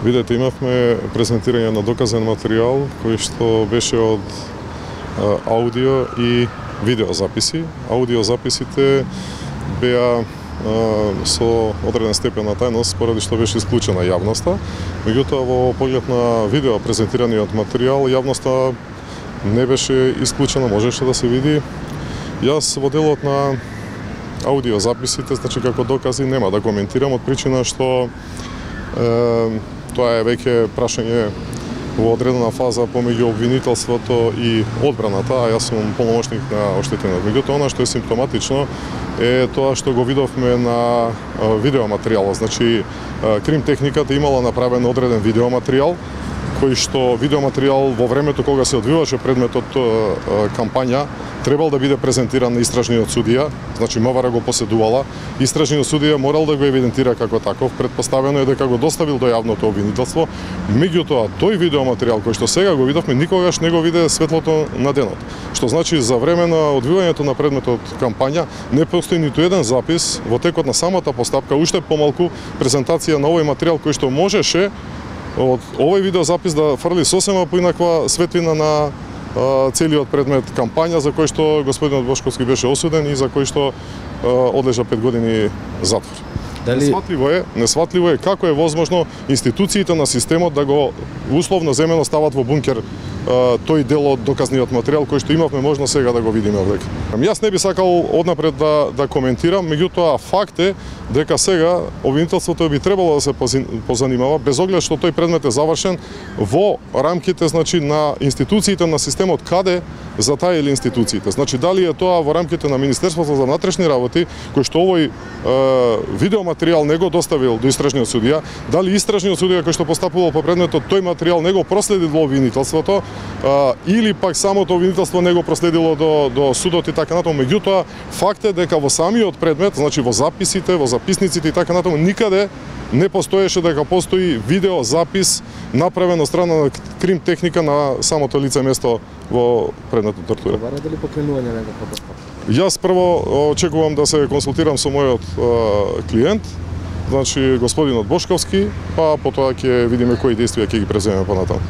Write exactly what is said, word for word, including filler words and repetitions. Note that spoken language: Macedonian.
Видете, имавме презентирање на доказен материјал кој што беше од а, аудио и видео записи. Аудио записите беа а, со одреден степен на тајност поради што беше исклучена јавноста. Меѓутоа во поглед на видео презентираниот материјал јавноста не беше исклучена, можеше да се види. Јас во делот на аудио записите, значи како докази, нема да коментирам од причина што е, тоа е веќе прашање во одредена фаза помеѓу обвинителството и одбраната, а јас сум полномошник на оштетениот. Меѓутоа, она што е симптоматично е тоа што го видовме на видеоматеријалот. Значи, кримтехниката имала направен одреден видеоматеријал, кој што видеоматеријал во времето кога се одвиваше предметот кампања требал да биде презентиран на истражниот судија, значи МВР го поседувала, истражниот судија морал да го евидентира како таков, предпоставено е дека го доставил до јавното обвинителство. Меѓутоа, тој видеоматеријал кој што сега го видовме никогаш не го виде светлото на денот. Што значи за време на одвивањето на предметот кампања не постои ниту еден запис во текот на самата постапка, уште помалку презентација на овој материјал кој што можеше од овој видеозапис да фрли сосема поинаква светлина на а, целиот предмет кампања за кој што господинот Бошковски беше осуден и за кој што а, одлежа пет години затвор. Дали... Несватливо е, несватливо е како е возможно институциите на системот да го условно земено стават во бункер а, тој дел од доказниот материјал кој што имавме можност сега да го видиме овде. Јас не би сакал однапред да, да коментирам, меѓутоа факт е дека сега обвинителството би требало да се позанимава, без оглед што тој предмет е завршен, во рамките, значи, на институциите на системот, каде затаили институциите. Значи, дали е тоа во рамките на Министерството за внатрешни работи, кој што овој е, видеоматеријал не го доставил до истражниот судија, дали истражниот судија кој што постапувал по предметот тој материјал не го проследил во обвинителството, е, или пак самото обвинителство не го проследило до, до судот и така натаму. Меѓутоа, факт е дека во самиот предмет, значи во записите, во записниците и така натаму, никаде не постоеше дека постои видеозапис направен од страна на кримтехника на самото лице место во предметот тортура. Бара дали покренување на некаква постапка? Јас прво очекувам да се консултирам со мојот е, клиент, значи господинот Бошковски, па потоа ќе видиме кои действија ќе ги преземеме понатаму.